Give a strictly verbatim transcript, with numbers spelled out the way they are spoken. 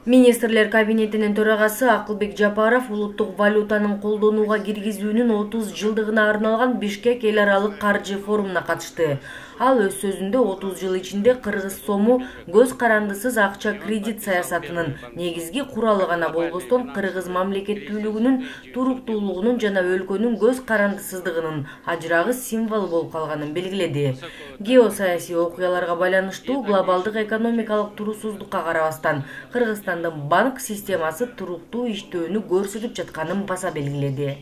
Министрлер кабинетинин төрагасы Акылбек Жапаров улуттук валютанын колдонууга киргизүүнүн отуз жылдыгына арналган Бишкек эл аралык каржы форумуна катышты. Ал өз сөзүндө отуз жыл ичинде кыргыз сому көз карандысыз акча кредит саясатынын негизги куралы гана болбостон кыргыз мамлекеттүүлүгүнүн, туруктуулугунун жана өлкөнүн көз карандысыздыгынын ажырагыс символу болуп калганын белгиледи. Геосаясий окуяларга байланыштуу глобалдык экономикалык турусуздукка карабастан Кыргызстандын банк системасы туруктуу иштөөнү көрсөтүп жатканын баса белгиледи.